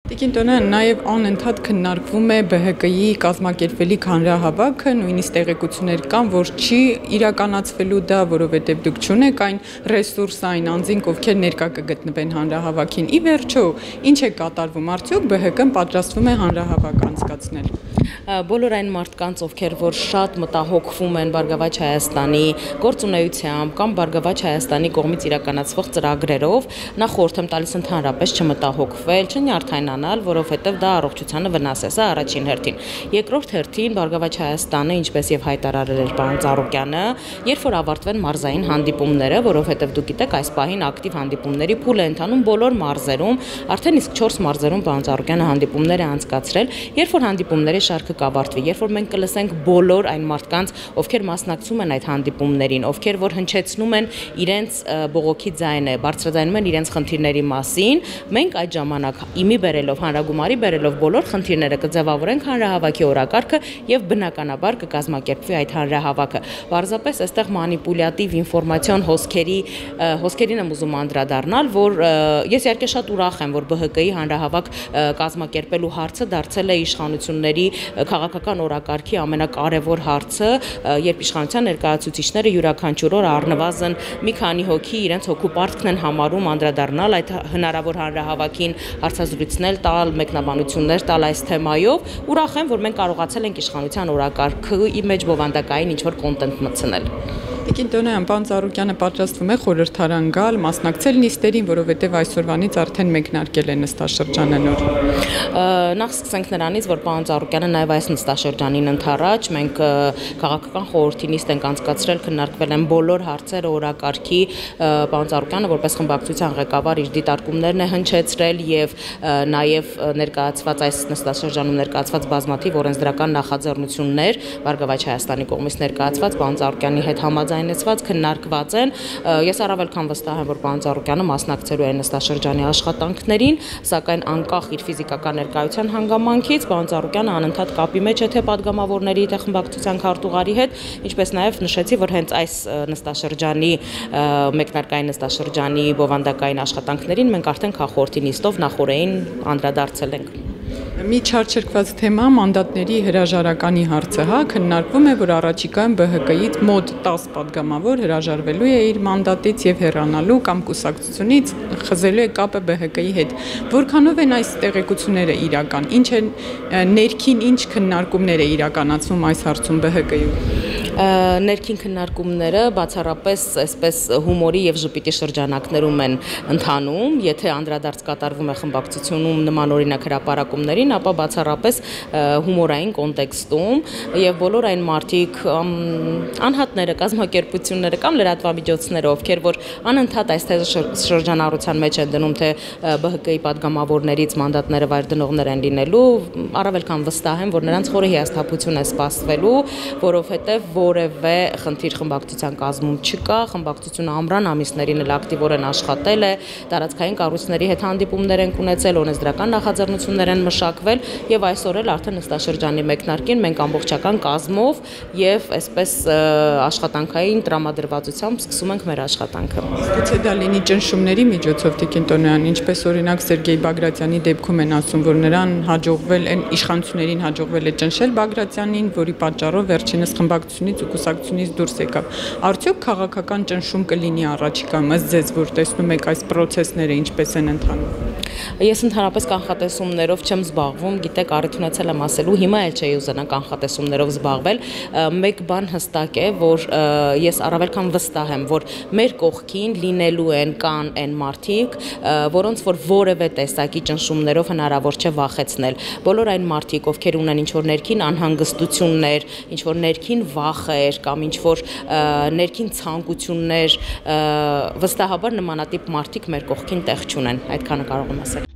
Տիկին Տոնյան, նաև անընդհատ քննարկվում է ԲՀԿ-ի կազմակերպվելիք հանրահավաքը, նույնիսկ տեղեկություններ կան, որ չի իրականացվելու դա, որովհետև դուք չունեք այն ռեսուրսը, այն անձինք, ովքեր ներկա կգտնվեն հանրահավաքին։ Ի վերջո, ինչ է կատարվում, արդյոք ԲՀԿ-ն պատրաստվում է հանրահավաք անցկացնել։ Բոլոր այն մարդկանց, ովքեր որ շատ մտահոգվում են Բարգավաճ Հայաստանի գործունեությամբ կամ Բարգավաճ Հայաստանի կողմից իրականացվող ծրագրերով, նախ խորհուրդ եմ տալիս ընդհանրապես չմտահոգվել, չնյարդայնանալ, որովհետև դա առողջությանը վնաս է, սա առաջին հերթին։ Երկրորդ հերթին Բարգավաճ Հայաստանը, ինչպես եւ հայտարարել էր պարոն Ծառուկյանը, երբ որ ավարտվեն մարզային հանդիպումները, որովհետև դուք գիտեք, այս պահին ակտիվ հանդիպումների փուլ է ընթանում բոլոր մարզերում, արդեն իսկ 4 մարզերում պարոն Ծառուկյանը հանդիպումներ է անցկացրել, երբ որ հանդիպումների շարքը կավարտվի, երբ որ մենք կլսենք բոլոր այն մարդկանց, ովքեր մասնակցում են այդ հանդիպումներին, ովքեր որ հնչեցնում են իրենց բողոքի ձայնը, բարձրաձայնում են իրենց խնդիրների մասին, մենք այդ ժամանակ իմի բերելով, հանրագումարի բերելով բոլոր խնդիրները կձևավորենք հանրահավաքի օրակարգը եւ բնականաբար կկազմակերպվի այդ հանրահավաքը։ Պարզապես այստեղ մանիպուլյատիվ ինֆորմացիոն հոսքերին եմ ուզում անդրադառնալ, որ ես իհարկե շատ ուրախ եմ, որ ԲՀԿ-ի հանրահավաք կազմակերպելու հարցը դարձել է իշխանությունների քաղաքական օրակարգի ամենակարևոր հարցը, երբ իշխանության ներկայացուցիչները յուրաքանչյուր օր առնվազն մի քանի հոգի իրենց հոգու պարտքն են համարում անդրադառնալ այդ հնարավոր հանրահավաքին, հարցազրույցներ տալ, մեկնաբանություններ տալ այս թեմայով։ Ուրախ եմ, որ մենք կարողացել ենք իշխանության օրակարգի մեջ բովանդակային ինչ-որ կոնտենտ մտցնել։ Տիկին Տոնյան, պարոն Ծառուկյանը պատրաստվում է խորհրդարան գալ, մասնակցել նիստերին, որովհետև այսօրվանից արդեն մեկնարկել է նստաշրջանը նոր։ Նախ սկսենք նրանից, որ պարոն Ծառուկյանը նաև այս նստաշրջանին ընդառաջ մենք քաղաքական խորհրդի նիստ ենք անցկացրել, քննարկվել են բոլոր հարցերը օրակարգի, պարոն Ծառուկյանը որպես խմբակցության ղեկավար իր դիտարկումներն է հնչեցրել եւ նաև ներկայացված այս նստաշրջանում ներկայացված բազմաթիվ օրենսդրական նախաձեռնություններ Բարգավաճ Հայաստանի կողմից ներկայացված պարոն Ծառուկյանի հետ համաձայնեցված քննարկված են։ Ես առավել քան վստահ եմ, որ պարոն Ծառուկյանը մասնակցելու է նստաշրջանի աշխատանքներին, սակայն անկախ իր ֆիզիկական ներկայության հանգամանքից պարոն Ծառուկյանը անընդհատ կապի մեջ է թե падգամավորների, թե խմբակցության քարտուղարի հետ, ինչպես նաև նշեցի, որ հենց այս նստաշրջանի մեկնարկային նստաշրջանի բովանդակային աշխատանքներին մենք արդեն քաղաքորդի նիստով նախորդին անդրադարձել ենք։ Մի չարչարկված թեմա մանդատների հրաժարականի հարցը, քննարկվում է, որ առաջիկայում ԲՀԿ-ից մոտ 10 падգամավոր հրաժարվելու է իր մանդատից եւ հեռանալու կամ կուսակցությունից խզելու է կապը ԲՀԿ-ի հետ։ Որքանով են այս տեղեկությունները իրական, ինչ են ներքին ինչ քննարկումներ է իրականացվում այս հարցում ԲՀԿ-ում։ Ներքին քննարկումները բացառապես այսպես հումորի եւ ժպիտի շրջանակներում են ընթանում, եթե անդրադարձ կատարվում է խմբակցությունում նմանօրինակ հրապարակումներին, ապա բացառապես հումորային կոնտեքստում եւ բոլոր այն մարդիկ անհատները, կազմակերպությունները կամ լրատվամիջոցները, ովքեր որ անընդհատ այս շրջանառության մեջ են դնում, թե ԲՀԿ-ի падգամավորներից մանդատները վայր դնողներ են լինելու, առավել քան վստահ եմ, որ նրանց խորը հիասթափություն է սպասվելու, որովհետեւ որևէ խնդիր խմբակցության կազմում չկա, խմբակցությունը ամռան ամիսներին էլ ակտիվորեն աշխատել է, տարածքային կառույցների հետ հանդիպումներ են ունեցել, օրենսդրական նախաձեռնություններ են մշակվել եւ այսօր էլ արդեն նստաշրջանի մեկնարկին մենք ամբողջական կազմով եւ այսպես աշխատանքային տրամադրվածությամբ սկսում ենք մեր աշխատանքը։ Գուցե դա լինի ճնշումների միջոցով, Տիկին Տոնյան, ինչպես օրինակ Սերգեյ Բագրատյանի դեպքում են ասում, որ նրան հաջողվել են իշխանություններին հաջողվել է ճնշել Բագրատյանին, որի պատճառով վերջինս խմբակցությունից ու կուսակցությունից դուրս եկավ։ Արդյոք քաղաքական ճնշում կլինի առաջիկայում, ըստ ձեզ, որ տեսնում եք այս process-ները ինչպես են ընթանում։ Ես ընդհանրապես կանխատեսումներով չեմ զբաղվում, գիտեք, առիթ ունեցել եմ ասելու, հիմա էլ չէի ուզենա կանխատեսումներով զբաղվել։ Մեկ բան հստակ է, որ ես առավել քան վստահ եմ, որ մեր կողքին լինելու են կան այն մարդիկ, որոնց որ որևէ տեսակի ճնշումներով հնարավոր չէ վախեցնել։ Բոլոր այն մարդիկ, ովքեր ունեն ինչ-որ ներքին անհանգստություններ, ինչ-որ ներքին վախեր կամ ինչ-որ ներքին ցանկություններ, վստահաբար նմանատիպ մարդիկ մեր կողքին տեղ չունեն, այդքանը կարող եմ ասել։